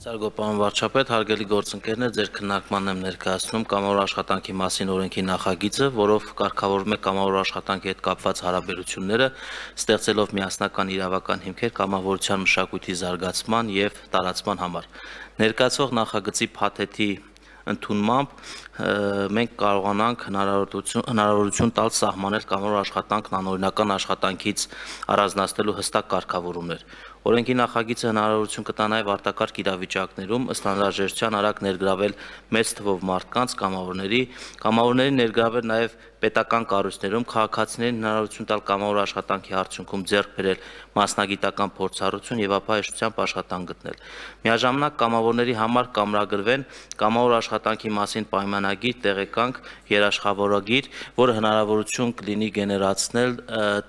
Ծարգո պարոն վարչապետ, հարգելի գործընկերներ, ձեր քննարկմանն եմ ներկայացնում կամավոր աշխատանքի մասին օրենքի նախագիծը, որով կարգավորվում է կամավոր աշխատանքի հետ կապված հարաբերությունները, ստեղծելով միասնական իրավական հիմքեր կամավորության մշակույթի զարգացման եւ տարածման համար։ Ներկայացվող նախագծի փաթեթի ընդունմամբ մենք կարողանանք հնարավորություն տալ սահմանել կամավոր աշխատանքն անօրինական աշխատանքից առանձնացնելու հստակ կարգավորումներ։ Օրենքի նախագիծը հնարավորություն կտա նաև արտակարգ իրավիճակներում ըստ անհրաժեշտության արագ ներգրավել մեծ թվով մարդկանց կամավորների ներգրավել նաև պետական կառույցներում քաղաքացիներին հնարավորություն տալ կամավոր աշխատանքի արդյունքում ձեռք բերել մասնագիտական փորձառություն եւ ապա հեշտությամբ աշխատանք գտնել։ Միաժամանակ կամավորների համար կամրագրվեն կամավոր աշխատանքի մասին պայմանագիր, տեղեկանք, երաշխավորագիր, որը հնարավորություն կլինի գեներացնել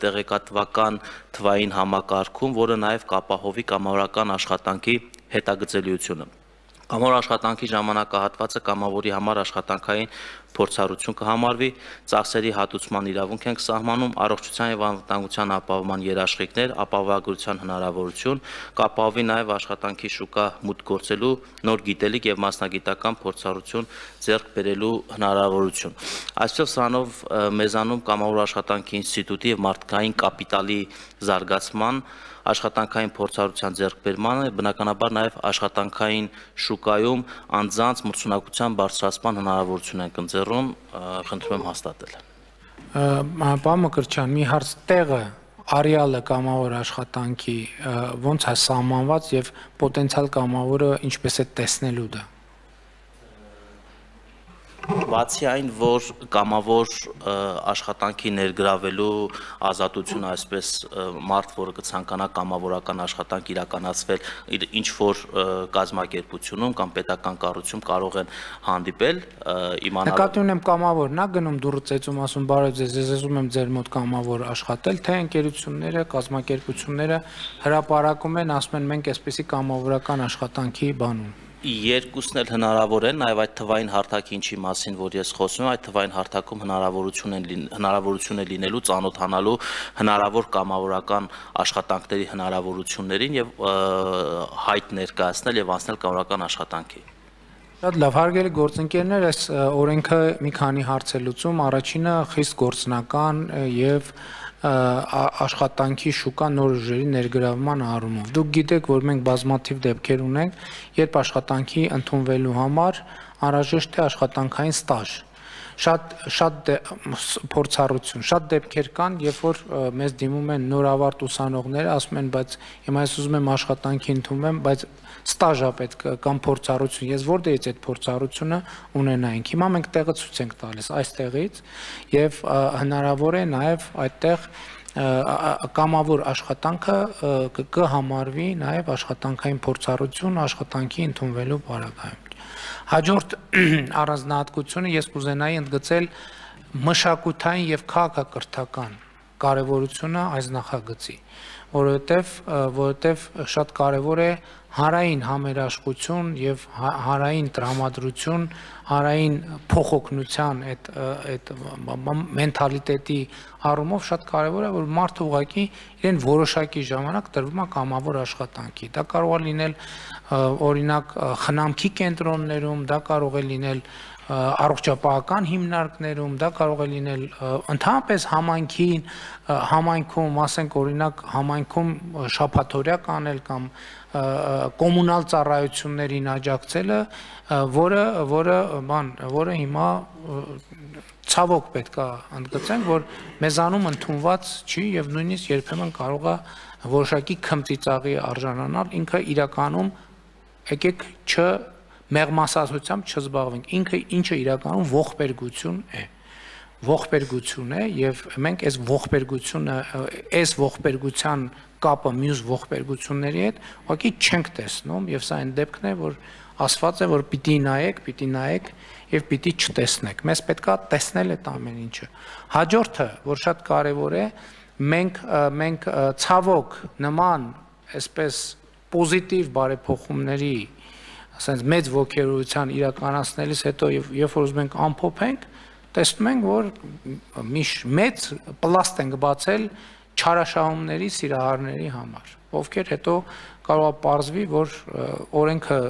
տեղեկատվական թվային համակարգում, որը նաև կապահովի կամավորական աշխատանքի հետագծելիությունը։ Կամավոր աշխատանքի ժամանակահատվածը կամավորի համար աշխատանքային փորձառություն կհամարվի, ծախսերի հատուցման իրավունք ենք սահմանում, առողջության եւ անվտանգության ապահովման երաշխիքներ, ապահովագրության հնարավորություն, կապահովի նաև աշխատանքի շուկա մուտք գործելու նոր գիտելիք եւ մասնագիտական փորձառություն ձեռք բերելու հնարավորություն։ Այսպեսով սրանով մեզանում կամավոր աշխատանքի ինստիտուտի եւ մարդկային կապիտալի զարգացման աշխատանքային փորձառության ձեռքբերմանը, բնականաբար նաև աշխատանքային շուկայում անձանց մրցունակության բարձրացման հնարավորություն ենք ընձեռում, խնդրում եմ հաստատել։ Պարոն Մկրտչյան, մի հարց տեղը արեալը կամավոր աշխատանքի ոնց է սահմանված եւ պոտենցիալ կամավորը ինչպես է տեսնելու դա։ Բացի այն, որ կամավոր աշխատանքի ներգրավելու ազատությունը, այսպես մարդ, որը կցանկանա կամավորական աշխատանք իրականացվել ինչ որ կազմակերպությունում կամ պետական կառույցում կարող են հանդիպել իմանալ։ Նկատի ունեմ կամավորն է գնում դուրը ծեծում ասում բարև ձեզ, ես ուզում եմ ձեր մոտ կամավոր աշխատել, թե ընկերությունները, կազմակերպությունները հրապարակում են, ասում են մենք այսպեսի կամավորական աշխատանքի բանում։ Երկուսն էլ հնարավոր են, նաև այդ թվային հարթակի ինչի մասին, որ ես խոսում եմ, այդ թվային հարթակում հնարավորություն է լինելու ծանոթանալու հնարավոր կամավորական աշխատանքների հնարավորություններին եւ հայտ ներկայացնել եւ անցնել կամավորական աշխատանքի։ Շատ լավ, հարգելի գործընկերներ, այս օրենքը մի քանի հարց է լուծում, առաջինը խիստ գործնական եւ աշխատանքի շուկա նոր ուժերի ներգրավման առումով։ Դուք գիտեք, որ մենք բազմաթիվ դեպքեր ունենք, երբ աշխատանքի ընդունվելու համար անհրաժեշտ է աշխատանքային ստաժ։ Շատ փորձառություն, շատ դեպքեր կան, երբ որ մեզ դիմում են նորավարտ ուսանողները, ասում են, բայց հիմա ես ուզում եմ աշխատանքի ընդունվեմ, բայց ստաժ է պետք կամ փորձառություն, ես որտեղից այդ փորձառությունը ունենայինք։ Հիմա մենք տեղը ցույց ենք տալիս այստեղից եւ հնարավոր է նաեւ այդտեղ կամավոր աշխատանքը կհամարվի նաեւ աշխատանքային փորձառություն աշխատանքի ընդունվելու պարագայում։ Հաջորդ առանձնահատկությունը ես կուզենայի ընդգծել մշակութային եւ քաղաքակրթական կարեւորությունը այս նախագծի, որովհետեւ շատ կարեւոր է հանրային համերաշխություն եւ հանրային տրամադրություն, հանրային փոխօգնության այդ մենթալիտետի առումով շատ կարեւոր է, որ մարդը ուղղակի իրեն որոշակի ժամանակ տրվում է կամավոր աշխատանքի։ Դա կարող է լինել օրինակ խնամքի կենտրոններում, դա կարող է լինել առողջապահական հիմնարկներում, դա կարող է լինել ընդհանրապես համայնքում, ասենք օրինակ համայնքում շաբաթօրյա կանել կամ կոմունալ ծառայություններին աջակցելը, որը հիմա ցավոք պետք է ընդգծենք, որ մեզանում ընդունված չի եւ նույնիսկ երբեմն կարող է որոշակի քմծիծաղի արժանանալ, ինքը իրականում եկեք մեղմասացությամբ չզբաղվենք, ինչը իրականում ողբերգություն է։ Ողբերգություն է եւ մենք այս ողբերգության կապը մյուս ողբերգությունների հետ ուղղակի չենք տեսնում եւ սա այն դեպքն է, որ ասված է, որ պիտի նայեք եւ պիտի չտեսնեք։ Մեզ պետքա տեսնել այդ ամեն ինչը։ Հաջորդը, որ շատ կարեւոր է, մենք ցավոք նման այսպես պոզիտիվ բարեփոխումների ասենց մեծ ոգերության իրականացնելիս հետո երբ որ ուզում ենք ամփոփենք, տեսնում ենք, որ մեծ պլաստ ենք բացել չարաշահումների սիրահարների համար, ովքեր հետո կարող է պարզվի, որ օրենքը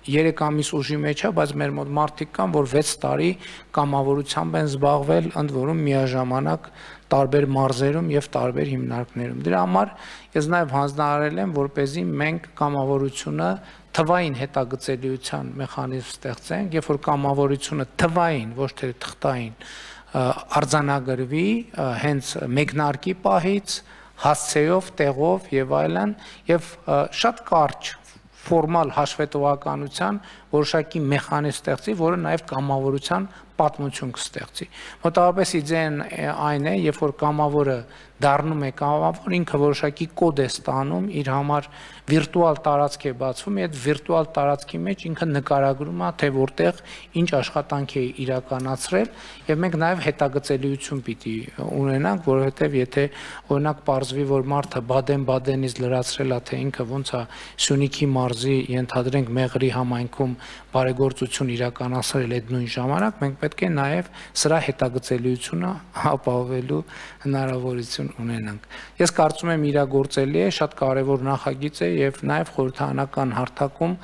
3 ամիս ուժի մեջ է, բայց մեր մոտ մարդիկ կան, որ 6 տարի կամավորությամբ են զբաղվել, ընդ որում միաժամանակ տարբեր մարզերում եւ տարբեր հիմնարկներում։ Դրա համար ես նաեւ հանձնարարել եմ, որպեսզի մենք կամավորությունը թվային հետագծելիության մեխանիզմ ստեղծենք, երբ որ կամավորությունը թվային, ոչ թե թղթային արձանագրվի հենց մեկնարկի պահից, հասցեով, տեղով եւ այլն, եւ շատ կարճ ֆորմալ հաշվետվականության որոշակի մեխանիզմ ստեղծի, որը նաև կամավորության պատմություն կստեղծի։ Մոտավորապես իդեան այն է, երբ որ կամավորը դառնում է կամավոր, ինքը որոշակի կոդ է ստանում, իր համար վիրտուալ տարածք է բացվում, այդ վիրտուալ տարածքի մեջ ինքը նկարագրում է, թե որտեղ ինչ աշխատանք է իրականացրել, եւ մենք նաև հետագծելիություն պիտի ունենանք, որովհետեւ եթե օրինակ պարզվի, որ մարդը Բադեն-Բադենից լրացրել է, թե ինքը ոնց է Սյունիքի մարզի ենթադրենք Մեղրի համայնքում բարեգործություն իրականացրել այդ նույն ժամանակ, մենք պետք է նաև սրա հետագծելիությունը ապահովելու հնարավորություն ունենանք։ Ես կարծում եմ իրագործելի է, շատ կարևոր նախագիծ է եւ նաև խորհրդարանական հարթակում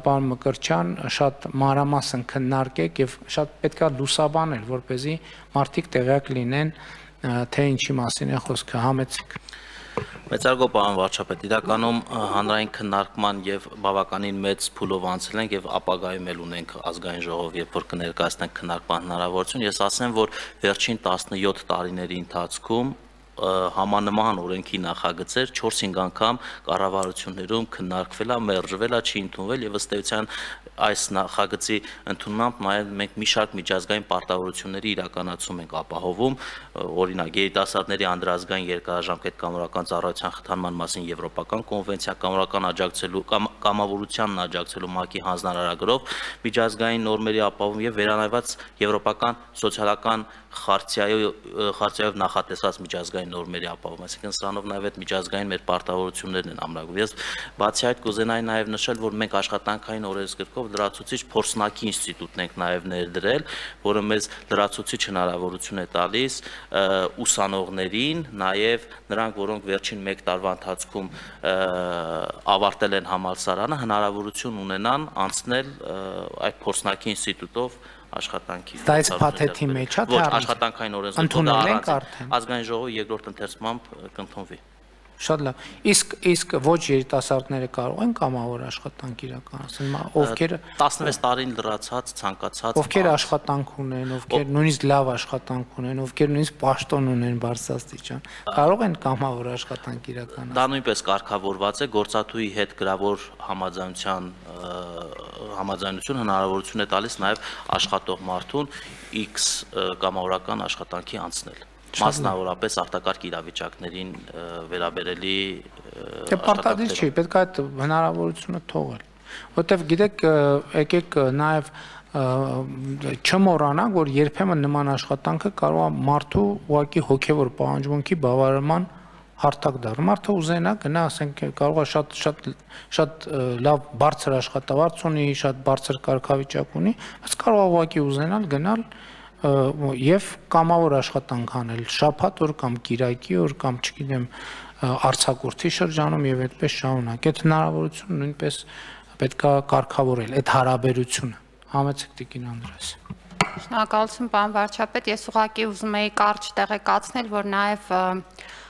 պարոն Մկրտչյան շատ մանրամասն քննարկեք եւ շատ պետքա լուսաբանել, որպեսզի մարդիկ տեղյակ լինեն, թե ինչի մասին է խոսքը, համեցիկ։ Մեծարգո պարոն վարչապետ, իրականում հանրային քննարկման եւ բավականին մեծ փուլով անցել ենք եւ ապագայում էլ ունենք ազգային ժողով, երբ որ կներկայացնենք քննարկման հնարավորություն, ես ասեմ, որ վերջին 17 տարիների ընթացքում համանման օրենքի նախագծեր 4-5 անգամ կառավարություններում քննարկվել է, մերժվել է, չի ընդունվել եւ ըստ էության այս նախագծի ընդունմամբ նաև մենք մի շարք միջազգային պարտավորությունների իրականացում ենք ապահովում, օրինակ երիտասարդների անդրազգային երկարաժամկետ կամավորական ծառայության խթանման մասին եվրոպական կոնվենցիա, կամավորությանն աջակցելու ՄԱԿ-ի հանձնարարագրով, միջազգային նորմերի ապահովում եւ վերանայված եվրոպական սոցիալական խարտիայով նախատեսված միջազգային նորմերի ապահովում, այսինքն սրանով նաև այդ միջազգային մեր պարտավորություններն են ամրագրում։ Ես բացի այդ կուզենայի նաև նշել, որ մենք աշխատանքային օրենսգրքով լրացուցիչ փորձնակի ինստիտուտն ենք նաև ներդրել, որը մեզ լրացուցիչ հնարավորություն է տալիս ուսանողներին, նաև նրանք, որոնք վերջին 1 տարվա ընթացքում ավարտել են համալսարանը, հնարավորություն ունենան անցնել այդ փորձնակի ինստիտուտով աշխատանքի։ Դա այս փաթեթի մեջ է, ոչ աշխատանքային օրենսգրքով ազգային ժողովի երկրորդ ընթերցմամբ կընդունվի։ Շատ լավ։ Իսկ ոչ երիտասարդները կարող են կամավոր աշխատանք իրականացնել, ովքեր 16 տարին լրացած, ցանկացած, ովքեր աշխատանք ունեն, ովքեր նույնիսկ լավ աշխատանք ունեն, ովքեր նույնիսկ պաշտոն ունեն բարձրաստիճան, կարող են կամավոր աշխատանք իրականացնել։ Դա նույնպես կարգավորված է, գործատուի հետ գրավոր համաձայնություն հնարավորություն է տալիս նաև աշխատող մարդուն X կամավորական աշխատանքի անցնել։ Մասնավորապես արտակարգ իրավիճակներին վերաբերելի պարտադիր չի, պետք է այդ հնարավորությունը թողել, որտեվ գիտեք, եկեք նաև չմոռանանք, որ երբեմն նման աշխատանքը կարող է մարդու ուղղակի հոգևոր պահանջմունքի բավարարման հարթակ դառնալ։ Մարդը ուզենա գնա, ասենք, կարող է շատ լավ բարձր աշխատավարձ ունի, շատ բարձր կարգավիճակ ունի, բայց կարող է ուղղակի ուզենալ գնալ եւ կամավոր աշխատանք անել շաբաթ օր կամ կիրակի օր կամ չգիտեմ արձակուրդի շրջանում եւ այդպես շարունակ։ Այդ հնարավորությունը նույնպես պետք է կարգավորել այդ հարաբերությունը։ Համեցեք Տիկին Անդրեաս։ Շնորհակալություն պարոն վարչապետ, ես ուղղակի ուզում եի կարճ տեղեկացնել, որ նաեւ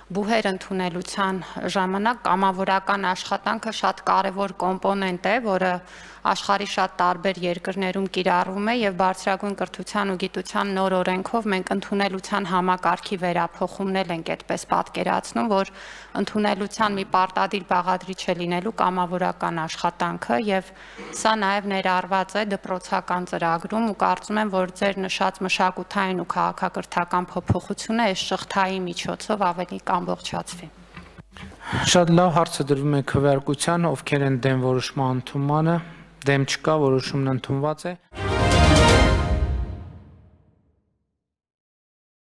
բուհեր ընդունելության ժամանակ կամավորական աշխատանքը շատ կարևոր կոմպոնենտ է, որը աշխարհի շատ տարբեր երկրներում կիրառվում է եւ բարձրագույն կրթության ու գիտության նոր օրենքով մենք ընդունելության համակարգի վերափոխումներ ենք այդպես պատկերացնում, որ ընդունելության մի պարտադիր բաղադրիչ է լինելու կամավորական աշխատանքը եւ սա նաեւ ներառված է դպրոցական ծրագրում ու կարծում եմ, որ ձեր նշած մշակութային ու քաղաքակրթական փոփոխությունը այս շղթայի միջոցով ավելի կամբողջացվի։ Շատ լավ, հարցը դրվում է քվեարկության, ովքեր են դեմ որոշման ընդունմանը, դեմ չկա, որոշումն ընդունված է։